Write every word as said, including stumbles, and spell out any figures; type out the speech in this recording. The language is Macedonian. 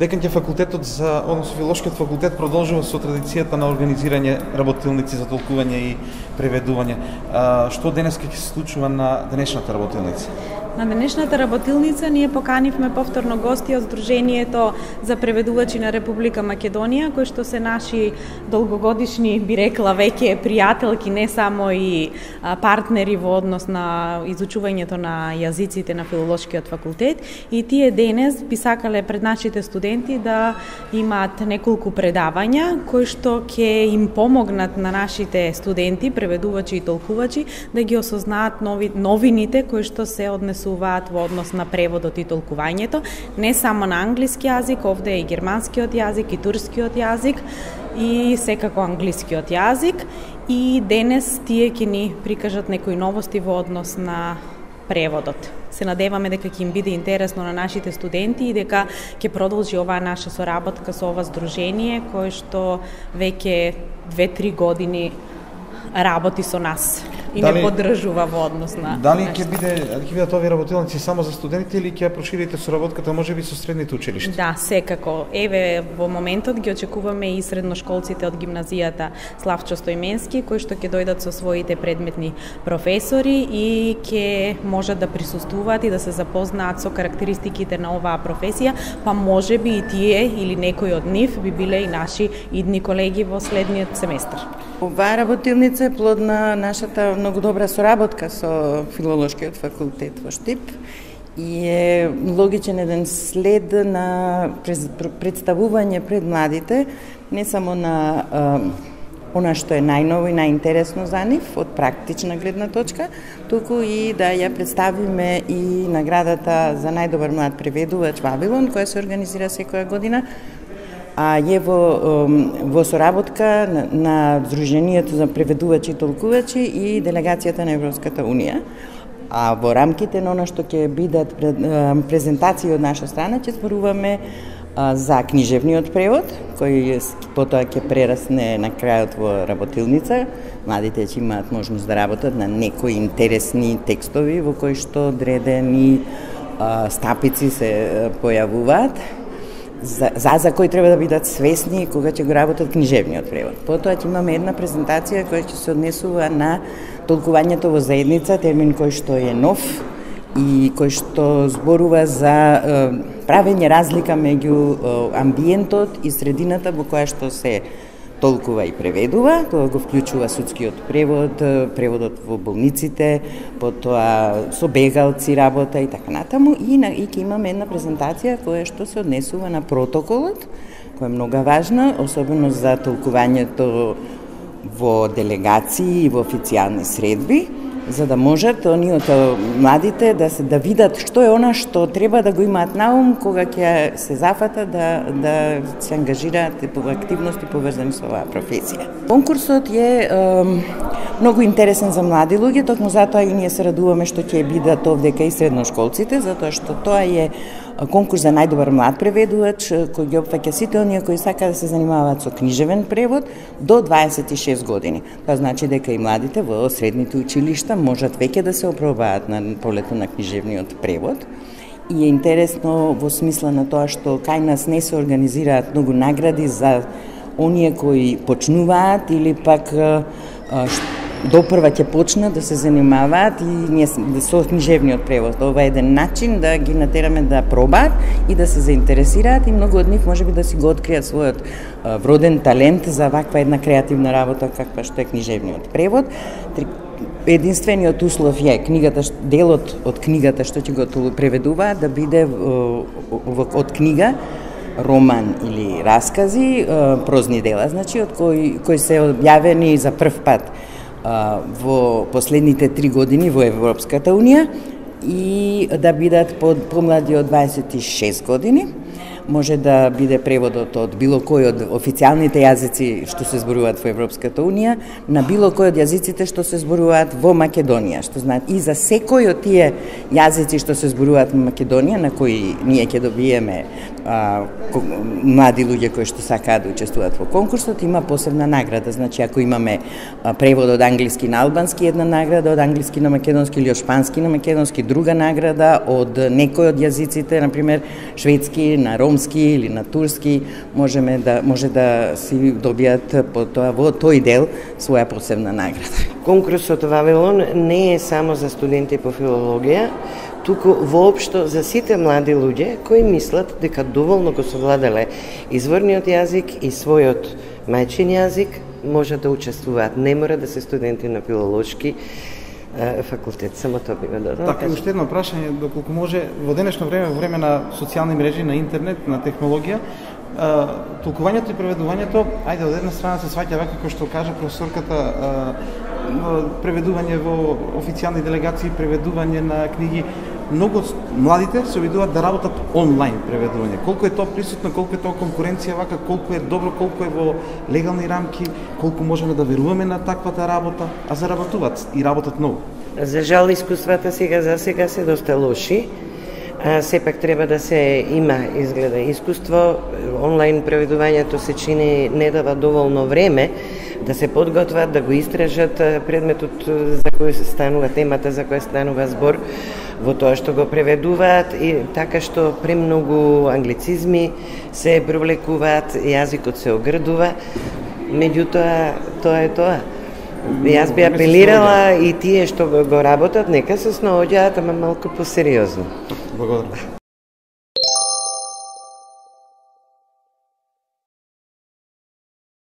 дека ќе факултетот за, односно филолошкиот факултет продолжува со традицијата на организирање работилници за толкување и преведување. А, што денеска ќе се случува на денешната работилница? На денешната работилница ние поканивме повторно гости од Сдруженијето за преведувачи на Република Македонија, кои што се наши долгогодишни, би рекла, веќе пријателки, не само и партнери во однос на изучувањето на јазиците на филолошкиот факултет. И тие денес би сакале пред нашите студенти да имаат неколку предавања кои што ќе им помогнат на нашите студенти, преведувачи и толкувачи, да ги осознаат нови, новините кои што се однесуваат во однос на преводот и толкувањето, не само на англиски јазик, овде е и германскиот јазик, и турскиот јазик, и секако англискиот јазик. И денес тие ќе ни прикажат некои новости во однос на преводот. Се надеваме дека ќе им биде интересно на нашите студенти и дека ќе продолжи оваа наша соработка со ова здружение, кое што веќе две-три години работи со нас и дали, не поддржува во однос на... Дали ќе биде ќе бидат овие работилници само за студенти или ќе проширите соработката можеби со средните училишта? Да, секако. Еве во моментот ги очекуваме и средношколците од гимназијата Славчо Стојменски, кои што ќе дојдат со своите предметни професори и ќе можат да присуствуваат и да се запознаат со карактеристиките на оваа професија, па можеби и тие или некои од нив би биле и наши идни колеги во следниот семестар. Оваа работилница е плод на нашата многу добра соработка со филолошкиот факултет во Штип и е логичен еден след на представување пред младите, не само на а, она што е најново и најинтересно за нив од практична гледна точка, туку и да ја представиме и наградата за најдобар млад преведувач Вавилон, која се организира секоја година, а е во, во соработка на, на Сдруженијето за преведувачи и толкувачи и делегацијата на Европската Унија. А во рамките на она што ќе бидат презентации од наша страна, ќе зборуваме за книжевниот превод, кој потоа ќе прерасне на крајот во работилница. Младите ќе имаат можност да работат на некои интересни текстови во кои што одредени стапици се појавуваат. За, за, за кои треба да бидат свесни кога ќе го работат книжевниот превод. Потоа ќе имаме една презентација која ќе се однесува на толкувањето во заедница, термин кој што е нов и кој што зборува за е, правење разлика меѓу е, амбиентот и средината во која што се толкува и преведува. Тоа го вклучува судскиот превод, преводот во болниците, потоа со бегалци работа и така натаму. И, на, и ќе имаме една презентација која што се однесува на протоколот, која е многу важна, особено за толкувањето во делегации и во официјални средби, за да можат оние младите да се да видат што е она што треба да го имаат на ум кога ќе се зафатат да да се ангажираат по активности поврзани со оваа професија. Конкурсот е, е многу интересен за млади луѓе, токму затоа и ние се радуваме што ќе бидат овдека и средношколците, затоа што тоа е конкурс за најдобар млад преведувач кој ги опфаќа сите оние кои сакаат да се занимаваат со книжевен превод до дваесет и шест години. Тоа значи дека и младите во средните училишта можат веќе да се опробаат на полето на книжевниот превод. И е интересно во смисла на тоа што кај нас не се организираат многу награди за оние кои почнуваат или пак допрва ќе почнат да се занимаваат и ние со книжевниот превод. Ова е еден начин да ги натераме да пробаат и да се заинтересираат и многу од нив можеби да си го откријат својот вроден талент за ваква една креативна работа каква што е книжевниот превод. Единствениот услов е книгата, делот од книгата што ќе го преведуваат да биде од книга, роман или раскази, прозни дела, значи од кои кои се објавени за прв пат во последните три години во Европската Унија и да бидат под помлади од дваесет и шест години. Може да биде преводот од било кој од официјалните јазици што се зборуваат во Европската Унија на било кој од јазиците што се зборуваат во Македонија, што знаат и за секој од тие јазици што се зборуваат во Македонија, на кои ние ќе добиеме а, млади луѓе кои што сакаат да учествуваат во конкурсот, има посебна награда. Значи, ако имаме а, превод од англиски на албански, една награда, од англиски на македонски или од шпански на македонски, друга награда, од некој од јазиците, например, шведски на ром ромски или на турски, можеме да може да си добијат по тоа во тој дел своја посебна награда. Конкурсот Вавилон не е само за студенти по филологија, туку воопшто за сите млади луѓе кои мислат дека доволно го совладале изворниот јазик и својот мајчин јазик, може да учествуваат. Не мора да се студенти на филолошки факултет, само тоа би го додал. Така, уште едно прашање, доколку може, во денешно време, во време на социјални мрежи, на интернет, на технологија, толкувањето и преведувањето, ајде, од една страна се сваќа вака, како што кажа професорката, преведување во официјални делегации, преведување на книги. Многу младите се обидуваат да работат онлайн преведување. Колку е тоа присутно, колку е тоа конкуренција вака, колку е добро, колку е во легални рамки, колку можеме да веруваме на таквата работа, а заработуваат и работат многу. За жал искуствата сега за сега се доста лоши. А, сепак треба да се има изгледа искуство. Онлайн преведувањето се чини не дава доволно време да се подготват, да го истражат предметот за кој станува темата, за која станува збор, во тоа што го преведуваат, и така што премногу англицизми се провлекуваат, јазикот се огрдува, меѓутоа тоа е тоа. Јас би апелирала и тие што го работат, нека се снаоѓаат, ама малку посериозно. Благодарам.